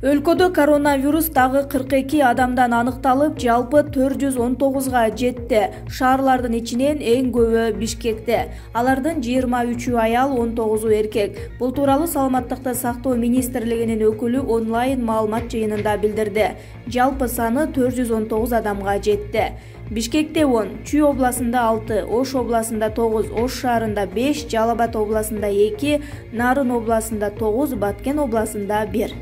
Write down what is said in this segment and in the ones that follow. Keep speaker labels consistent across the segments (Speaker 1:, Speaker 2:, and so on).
Speaker 1: Өлкөдө коронавирус дагы 42 адамдан аныкталып, жалпы 419га жетти. Шаарлардын ичинен эң көбү Бишкекте. Алардын 23 аял, 19 эркек. Бул тууралуу Саламаттыкты сактоо министрлигинин өкүлү онлайн маалымат жыйынында билдирди. Жалпы саны 419 адамга жетти. Бишкекте 10, Чүй областында 6, Ош областында 9, Ош шаарында 5, Жалал Абад областында 2, Нарын областында 9, Баткен областында 1.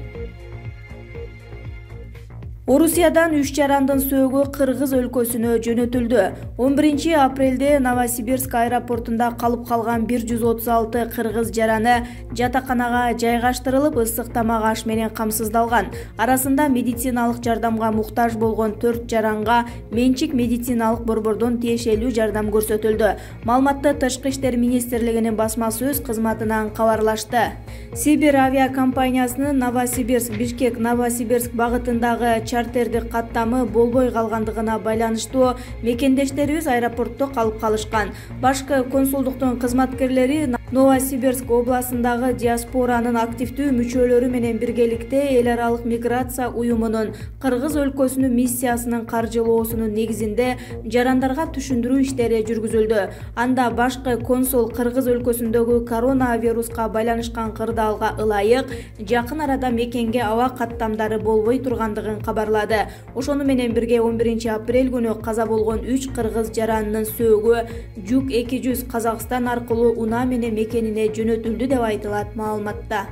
Speaker 1: Орусиядан 3 жарандын сөөгү Кыргыз өлкөсүнө жөнөтүлдү. 11 апрелде Новосибирск аэропортунда калып калган 136 кыргыз жараны жатаканага жайгаштырылып, ысык тамак аш менен камсыздалган. Арасында медициналык жардамга муктаж болгон 4 жаранга менчик медициналык борбордон тиешелүү жардам көрсөтүлдү. Маалыматты Тышкы иштер министрлигинин басма сөз кызматынан кабарлашты. Сибир авиакомпаниясынын Новосибирск-Бишкек Новосибирск багытындагы чартердик каттамы болбой калгандыгына байланыштуу мекендештерибиз аэропортто калып калышкан. Башкы консулдуктун кызматкерлери Новосибирск областындагы диаспоранын активдүү мүчөлөрү менен биргеликте эл аралык миграция уюмунун Кыргыз өлкөсүнүн миссиясынын каржылоосунун негизинде жарандарга түшүндүрүү иштери жүргүзүлдү. Анда башкы консул Кыргыз өлкөсүндөгү коронавируска байланышкан кырдаалга ылайык жакын арада мекенге аба каттамдары болбой тургандыгын кабарлады. Ошону менен бирге 11 апрель күнү каза болгон 3 кыргыз жаранынын сөөгү Жүк 200 Казакстан аркылуу унаа менен мекенине жөнөтүлдү деп айтылат маалыматта.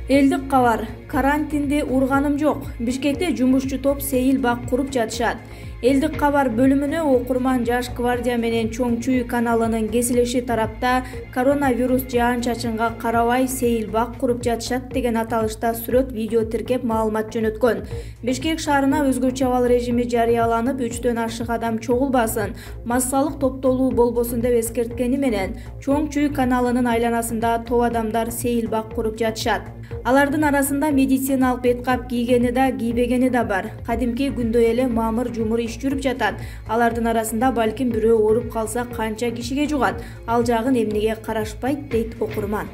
Speaker 1: Элдик кабар. Карантинди урганым жок. Бишкекте жумушчу топ сейил бак куруп жатышат. Элдик кабар бөлүмүнө окурман Жаш гвардия менен Чоң Чүй каналынын кесилеши тарапта коронавирус жаан-чачынга карабай сейил бак куруп жатышат деген аталышта сүрөт видео тиркеп маалымат жөнөткөн. Бишкек шаарына өзгөчө абал режими жарыяланып, 3төн ашык адам чогулбасын, массалык топтолуу болбосун деп эскерткени менен Чоң Чүй каналынын айланасында топ адамдар сейил бак куруп жатышат. Алардын арасында медициналык беткап кийгени да, кийбегени да бар. Кадимки күндөй эле мамыр жумур иш жүрүп жатат. Алардын арасында балким бирөө ооруп калса канча кишиге жугат? Ал жагын эмнеге карашпайт, дейт окурман.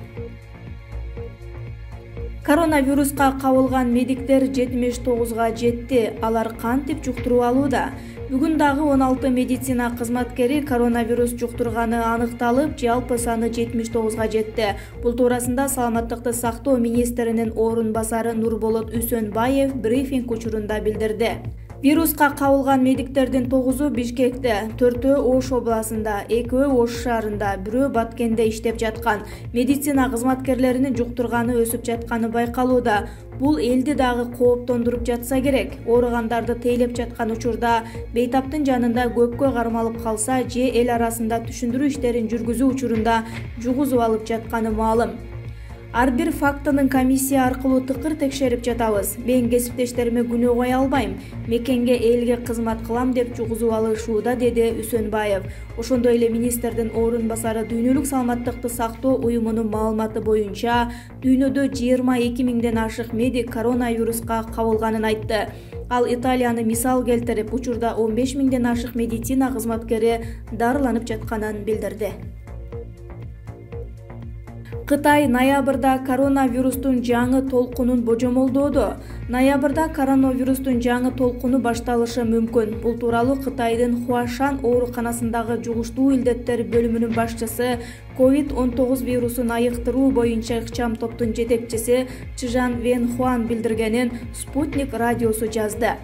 Speaker 1: Коронавируска кабылган медиктер 79га жетти. Алар кантип жуктуруп алууда? Бүгүн дагы 16 медицина кызматкери коронавирус жуктурганы аныкталып, жалпы саны 79га жетти. Бул туурасында Саламаттыкты сактоо министринин орун басары Нурболот Үсөнбаев брифинг учурунда билдирди. Вируска кабылган медиктердин 9-у Бишкекте, 4-өө Ош областында, 2-өө Ош шаарында, 1-өө Баткенде иштеп жаткан. Медицина кызматкерлеринин жуктурганы өсүп жатканы байкалууда. Бул элди дагы кооптондуруп жатса керек. Ооругандарды тейлеп жаткан учурда бейтаптын жанында көпкө кармалып калса же эл арасында түшүндүрүү иштерин жүргүзүү учурунда жугузуп алып жатканы маалым. Ар бир фактынын комиссия аркылуу тыкыр текшерип жатабыз. Мен кесиптештериме күнөө кое албайм. Мекенге, элге кызмат кылам деп жугузуп алышууда, деди Үсөнбаев. Ошондой эле министрдин орун басары дүйнөлүк саламаттыкты сактоо уюмунун маалыматы боюнча, дүйнөдө 22 миңден ашык медик коронавируска кабылганын айтты. Ал Италияны мисал келтирип, учурда 15 миңден ашык медицина кызматкери дарыланып жатканын билдирди. Кытай ноябрда коронавирустун жаңы толкунун божомолдоодо. Ноябрда коронавирустун жаңы толкуну башталышы мүмкүн. Бул тууралуу Кытайдын Хуашан ооруканасындагы жугуштуу илдеттер бөлүмүнүн башчысы, COVID-19 вирусун айыктыруу боюнча ыкчам топтун жетекчиси Чжан Венхуан билдиргенин Спутник радиосу жазды.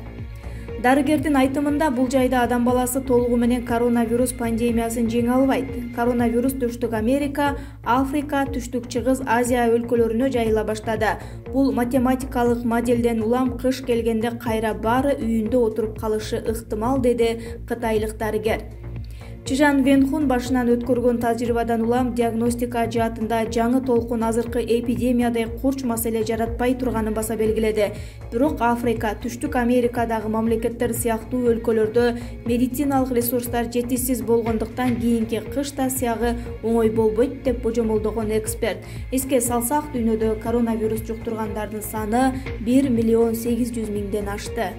Speaker 1: Дарыгердин айтымында, бул жайда адам баласы толугу менен коронавирус пандемиясын жеңе албайт. Коронавирус Түштүк Америка, Африка, Түштүк Чыгыс Азия өлкөлөрүнө жайыла баштады. Бул математикалык моделден улам кыш келгенде кайра баары үйүндө отуруп калышы ыктымал, деди кытайлык дарыгер. Чжан Венхун башынан өткөргөн тажрыйбадан улам диагностика жаатында жаңы толкун азыркы эпидемиядай курч маселе жаратпай турганын баса белгиледи. Бирок Африка, Түштүк Америкадагы мамлекеттер сыяктуу өлкөлөрдө медициналык ресурстар жетишсиз болгондуктан кийинки кыш да сыягы оңой болбойт деп божомолдогон эксперт. Эске салсак, дүйнөдө коронавирус жуктургандардын саны 1,8 миңден ашты.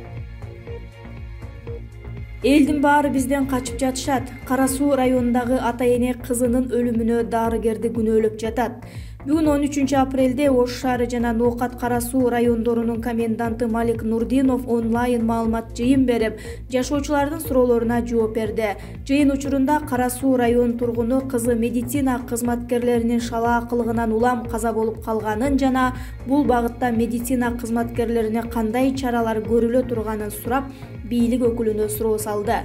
Speaker 1: Элдин баары бизден качып жатышат. Кара Суу районундагы ата-эне кызынын өлүмүнө дарыгерди күнөөлөп жатат. Бүгүн 13 апрелде Ош шаары жана Ноокат Кара Суу райондорунун коменданты Малик Нурдинов онлайн маалымат жыйын берип, жашоочулардын суроолоруна жооп берди. Жыйын учурунда Кара Суу район тургуну кызы медицина кызматкерлеринин шалаакылыгынан улам каза болуп калганын жана бул багытта медицина кызматкерлерине кандай чаралар көрүлө турганын сурап, бийлик өкүлүнө суроо салды.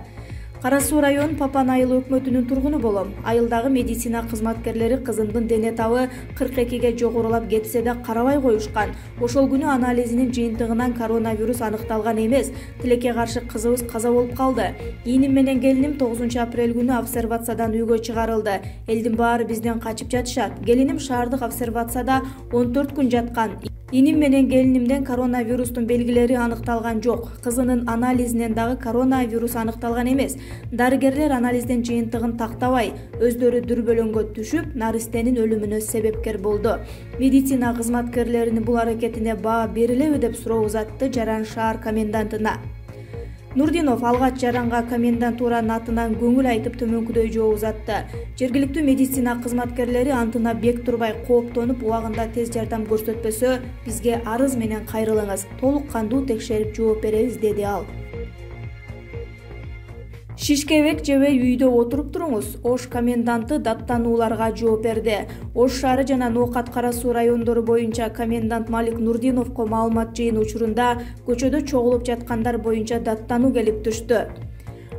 Speaker 1: Кара Суу район Папан айыл өкмөтүнүн тургуну болом. Айылдагы медицина кызматкерлери кызымдын дене табы 42ге жогорулап кетсе да карабай коюшкан. Ошол күнү анализинин жыйынтыгынан коронавирус аныкталган эмес. Тилекке каршы кызыбыз каза болуп калды. Ийиним менен келиним 9 апрель күнү обсервациядан үйгө чыгарылды. Элдин баары бизден качып жатышат. Келиним шаардык обсервацияда 14 күн жаткан. Ийиним менен келинимден коронавирустун белгилери аныкталган жок. Кызынын анализинен дагы коронавирус аныкталган эмес. Дарыгерлер анализдин жыйынтыгын тактабай, өздөрү дүрбөлөңгө түшүп, наристенин өлүмүнө себепкер болду. Медицина кызматкерлеринин бул аракетине баа берилеби деп суроо узатты Жаран шаар комендантына. Нурдинов алгач Жаранга комендантуранын атынан көңүл айтып төмөнкүдөй жооп узатты. Жергиликтүү медицина кызматкерлери антына бек турбай кооптонуп, убагында тез жардам көрсөтпөсө, бизге арыз менен кайрылыңыз, толук кандуу текшерип жооп беребиз, деди ал. Шишкебек жебей үйдө отуруп туруңуз. Ош коменданты даттанууларга жооп берди. Ош шаары жана Ноокат Кара Суу райондору боюнча комендант Малик Нурдиновго маалымат жыйын учурунда көчөдө чогулуп жаткандар боюнча даттануу келип түштү.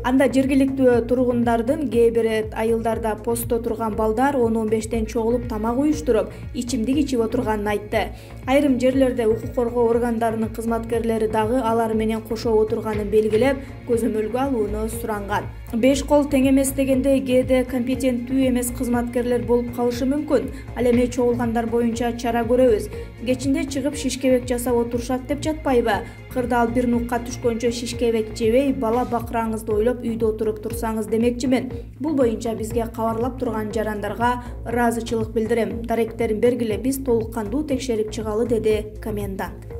Speaker 1: Анда жергиликтүү тургундардын кээ бир айылдарда постто турган балдар 10-15тен чогулуп тамак уюштуруп, ичимдик ичип отурганын айтты. Айрым жерлерде укук коргоо органдарынын кызматкерлери дагы алар менен кошо отурганын белгилеп, көзөмөлгө алууну суранган. Беш кол тең эмес дегенде кээде компетенттүү эмес кызматкерлер болуп калышы мүмкүн. Ал эми чогулгандар боюнча чара көрөбүз. Кечинде чыгып шишкебек жасап отурушат деп жатпайбы? Кырдаал бир нукка түшкөнчө шишкебек жебей, бала бакыраңызды ойлоп үйдө отуруп турсаңыз демекчимин. Бул боюнча бизге кабарлап турган жарандарга ыраазычылык билдирем. Даректерин бергиле, биз толук кандуу текшерип чыгалы, деди комендант.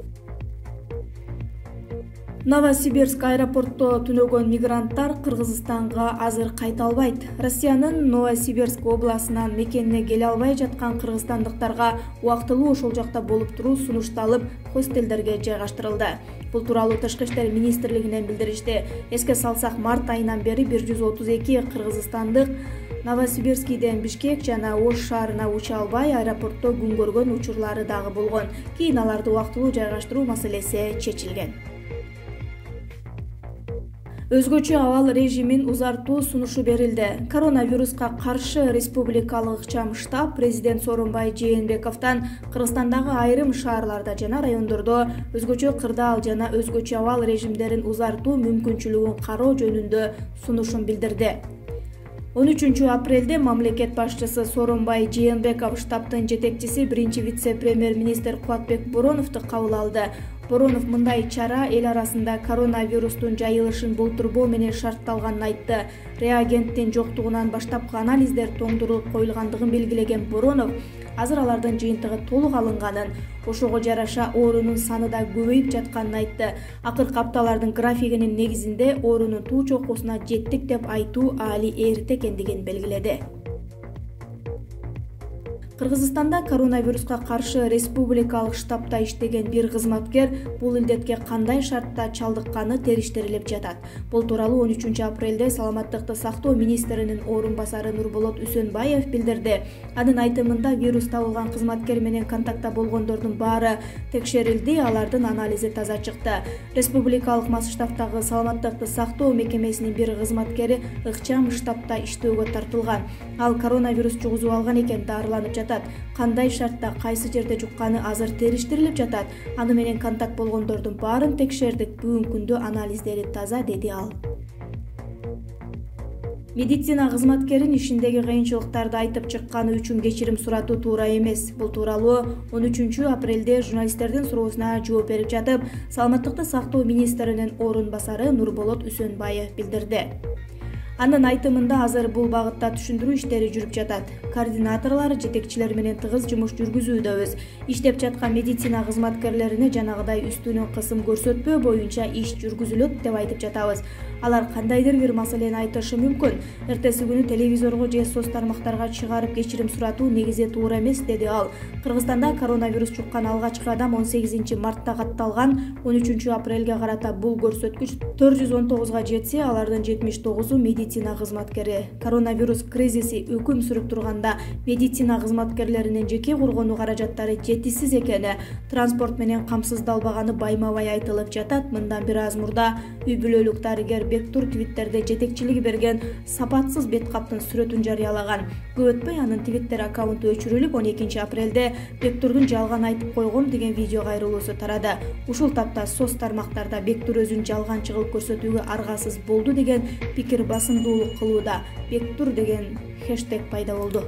Speaker 1: Новосибирск аэропортто түнөгөн мигранттар Кыргызстанга азыр кайта албайт. Россиянын Новосибирск областынан мекенине келе албай жаткан кыргызстандыктарга убактылуу ошол жакта болуп туруу сунушталып, хостелдерге жайгаштырылды. Бул тууралуу Тышкы иштер министрлигинен билдиришти. Эске салсак, март айынан бери 132 кыргызстандык Новосибирскийден Бишкек жана Ош шаарына уча албай аэропортто күн көргөн учурлары дагы болгон. Кийин аларды убактылуу жайгаштыруу маселеси чечилген. Өзгөчө абал режимин узартуу сунушу берилди. Коронавируска каршы республикалык ыкчам штаб президент Сооронбай Жээнбековдон Кыргызстандагы айрым шаарларда жана райондордо өзгөчө кырдаал жана өзгөчө абал режимдерин узартуу мүмкүнчүлүгүн кароо жөнүндө сунушун билдирди. 13 апрелде мамлекет башчысы Сооронбай Жээнбеков штабтын жетекчиси биринчи вице-премьер-министр Кубатбек Бороновду кабыл алды. Боронов мындай чара эл арасында коронавирустун жайылышын болтурбоо менен шартталганын айтты. Реагенттин жоктугунан баштапкы анализдер тоңдурулуп коюлгандыгын белгилеген Боронов азыр алардын жыйынтыгы толук алынганын, ошого жараша оорунун саны да көбөйүп жатканын айтты. Акыркы апталардын графигинин негизинде оорунун туу чокусуна жеттик деп айтуу али эрте экендигин белгиледи. Кыргызстанда коронавируска каршы республикалык штабта иштеген бир кызматкер бул илдетке кандай шартта чалдыкканы териштирилип жатат. Бул тууралуу 13 апрелде саламаттыкты сактоо министринин орун басары Нурболот Үсөнбаев билдирди. Анын айтымында вирус табылган кызматкер менен контактта болгондордун баары текшерилди, алардын анализи таза чыкты. Республикалык масштабтагы саламаттыкты сактоо мекемесинин бир кызматкери ыкчам штабта иштөөгө тартылган. Ал коронавирус жугузуп алган экен, дарыланып жатат. Кандай шартта, кайсы жерде жукканы азыр териштирилип жатат. Аны менен контакт болгондордун баарын текшердик. Бүгүнкү күндө анализдери таза, деди ал. Медицина кызматкерин ишиндеги кыйынчылыктарды айтып чыкканы үчүн кечирим суратуу туура эмес. Бул тууралуу 13 апрелде журналисттердин суроосуна жооп берип жатып, саламаттыкты сактоо министринин орун басары Нурболот Үсөнбаев билдирди. Анын айтымында азыр бул багытта түшүндүрүү иштери жүрүп жатат. Координаторлор жетекчилер менен тыгыз жумуш жүргүзүүдөбүз. Иштеп жаткан медицина кызматкерлерине жанагыдай үстүнөн кысым көрсөтпөө боюнча иш жүргүзүлөт деп айтып жатабыз. Алар кандайдыр бир маселени айтышы мүмкүн. Эртеси күнү телевизорго же соц тармактарга чыгарып кечирим суратуу негизи туура эмес, деди ал. Кыргызстанда коронавирус жуккан алгачкы адам 18 мартта катталган. 13 апрелге карата бул көрсөткүч 419 жетсе, алардын 79-у медицина кызматкери. Коронавирус кризиси өкүм сүрүп турганда медицина кызматкерлеринин жеке коргонуу каражаттары жетишсиз экени, транспорт менен камсыздалбаганы байма-бай айтылып жатат. Мындан бир аз мурда үй бүлөлүк дарыгер Бектур твиттерде жетекчилиги берген сапатсыз бет каптын сүрөтүн жарыялаган. Көп өтпөй анын твиттер аккаунту өчүрүлүп, 12 апрелде Бектурдун жалган айтып койгом деген видео кайрылуусу тарады. Ушул тапта соц тармактарда Бектур өзүн жалган чыгып көрсөтүүгө аргасыз болду деген пикир басымдуулук кылууда. Бектур деген хэштег пайда болду.